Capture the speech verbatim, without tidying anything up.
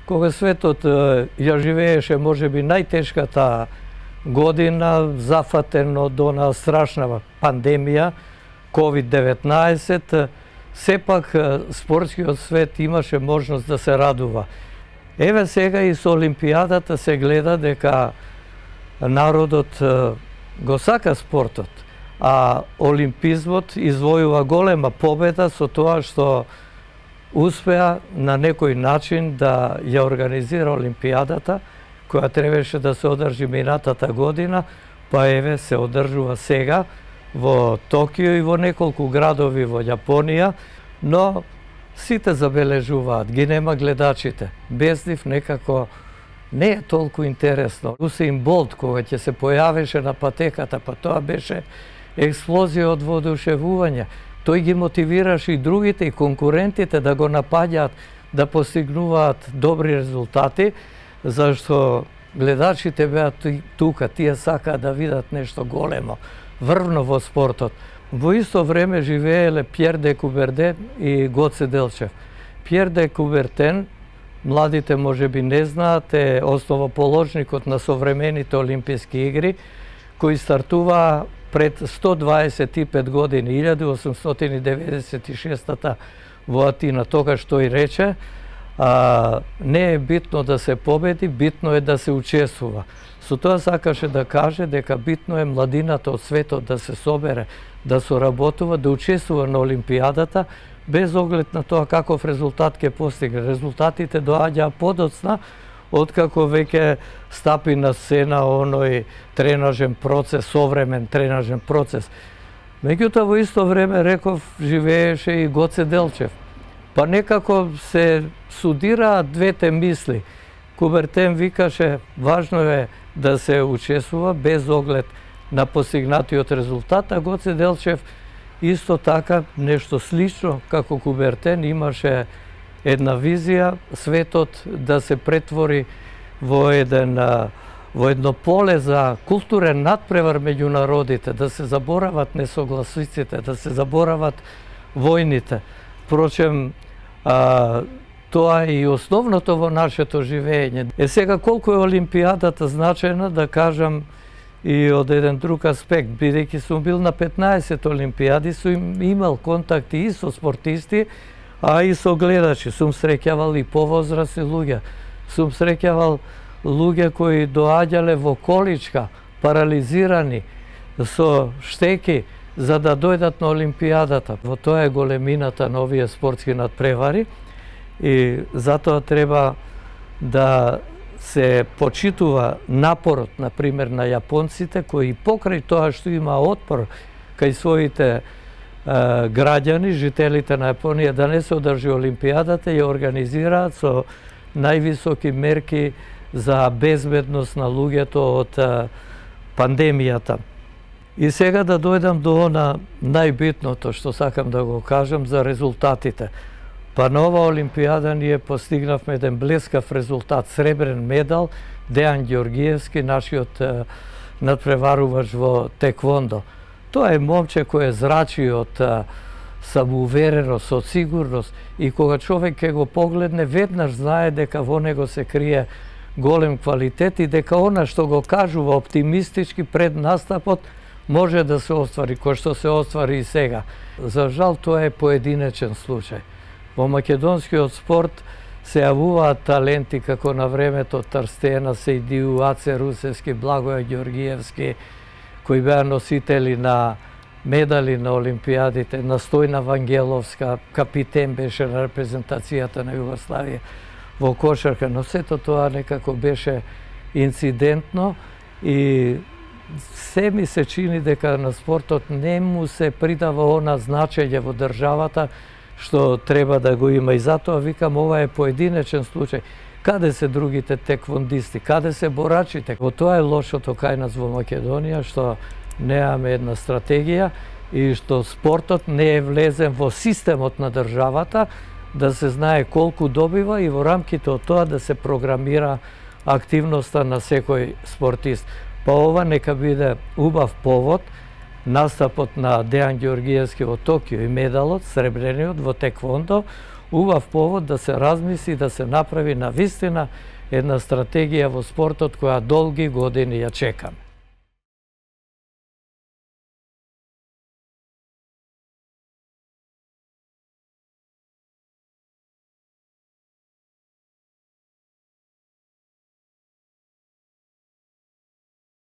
кога светот ја живееше можеби најтешката година, зафатен од она страшна пандемија ковид деветнаесет, сепак спортскиот свет имаше можност да се радува. Еве сега и со Олимпијадата се гледа дека народот го сака спортот, а олимпизмот извојува голема победа со тоа што успеа на некој начин да ја организира Олимпијадата, која требаше да се одржи минатата година, па еве се одржува сега во Токио и во неколку градови во Јапонија, но сите забележуваат, ги нема гледачите. Без нив некако не е толку интересно. Усеин Болт, кога ќе се појавеше на патеката, па тоа беше експлозија од воодушевување. Тој ги мотивираше и другите, и конкурентите да го напаѓаат, да постигнуваат добри резултати, зашто гледачите беа тука, тие сакаат да видат нешто големо, врвно во спортот. Во исто време живееле Пјер де Куберден и Гоце Делчев. Пјер де Кубертен, младите можеби не знаат, е основоположникот на современите Олимписки игри, кои стартува пред сто дваесет и пет години, илјада осумстотини деветдесет и шеста во Атина. Тогаш тој рече, а, не е битно да се победи, битно е да се учествува. Со тоа сакаше да каже дека битно е младината од светот да се собере, да соработува, да учествува на Олимпијадата, без оглед на тоа каков резултат ќе постигне. Резултатите доаѓаа подоцна, откако веќе стапи на сцена оној тренажен процес, современ тренажен процес. Меѓутоа, во исто време, реков, живееше и Гоце Делчев. Па некако се судираат двете мисли. Кубертен викаше, важно е да се учествува без оглед на постигнатиот резултат, а Гоце Делчев исто така нешто слично како Кубертен имаше една визија светот да се претвори во еден во едно поле за културен надпревар меѓу народите, да се заборават несогласиците, да се заборават војните. Впрочем, а, тоа е и основното во нашето живење. Е сега колку е Олимпијадата значајна, да кажам и од еден друг аспект, бидејќи сум бил на петнаесет Олимпијади, сум имал контакти и со спортисти, а и со гледачи. Сум среќавал и повозрасни луѓе. Сум среќавал луѓе кои доаѓале во количка, парализирани, со штеки, за да дојдат на Олимпијадата. Во тоа е големината на овие спортски надпревари и затоа треба да се почитува напорот, например, на јапонците, кои покрај тоа што има отпор кај своите граѓани, жителите на Јапонија, да не се одржи Олимпијадата, ја организираат со највисоки мерки за безбедност на луѓето од пандемијата. И сега да дојдам до она најбитното што сакам да го кажам за резултатите. Па на ова Олимпијада ние постигнавме еден блескав резултат, сребрен медал, Дејан Ѓоргиевски, нашиот надпреварувач во теквондо. Тоа е момче кој е зрачи од самоувереност, од сигурност и кога човек ќе го погледне, веднаш знае дека во него се крие голем квалитет и дека она што го кажува оптимистички пред настапот може да се оствари, кој што се оствари и сега. За жал, тоа е поединечен случај. Во македонскиот спорт се јавуваат таленти како на времето Трстена Сејдиу, Аце Русевски, Благоја Ѓоргиевски, кои беа носители на медали на Олимпијадите, Настојна Вангеловска, капитен беше на репрезентацијата на Југославија во кошарка, но сето тоа некако беше инцидентно и се ми се чини дека на спортот не му се придава она значење во државата што треба да го има и затоа викам ова е поединечен случај. Каде се другите теквондисти, каде се борачите? Во тоа е лошото кај нас во Македонија, што немаме една стратегија и што спортот не е влезен во системот на државата, да се знае колку добива и во рамките од тоа да се програмира активноста на секој спортист. Па ова нека биде убав повод настапот на Дејан Ѓеоргиевски во Токио и медалот, сребрениот во теквондо, убав повод да се размисли, да се направи на вистина една стратегија во спортот која долги години ја чекаме.